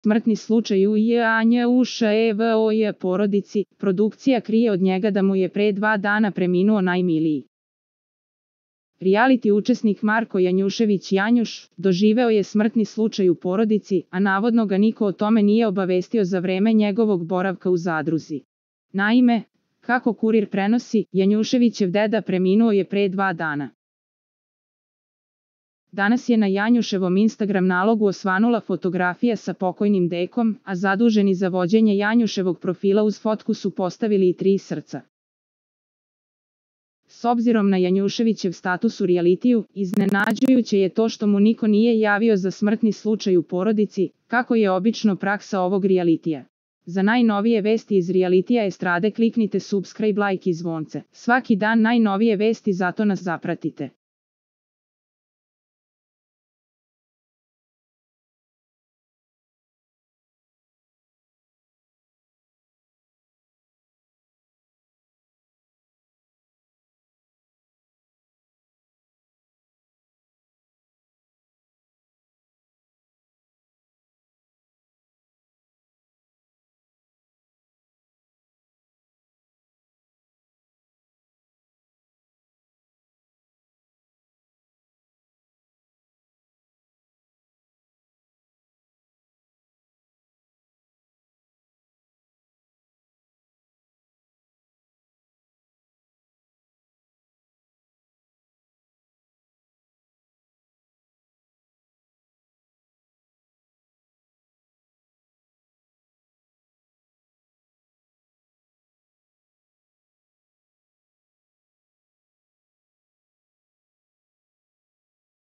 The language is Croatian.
Smrtni slučaj u Janjuševoj porodici, produkcija krije od njega da mu je pre 2 dana preminuo najmiliji. Reality učesnik Marko Janjušević Janjuš doživeo je smrtni slučaj u porodici, a navodno ga niko o tome nije obavestio za vreme njegovog boravka u zadruzi. Naime, kako Kurir prenosi, Janjuševićev deda preminuo je pre 2 dana. Danas je na Janjuševom Instagram nalogu osvanula fotografija sa pokojnim dekom, a zaduženi za vođenje Janjuševog profila uz fotku su postavili i 3 srca. S obzirom na Janjuševićev status u realitiju, iznenađujuće je to što mu niko nije javio za smrtni slučaj u porodici, kako je obično praksa ovog realitija. Za najnovije vesti iz realitija estrade kliknite subscribe, like i zvonce. Svaki dan najnovije vesti, zato nas zapratite.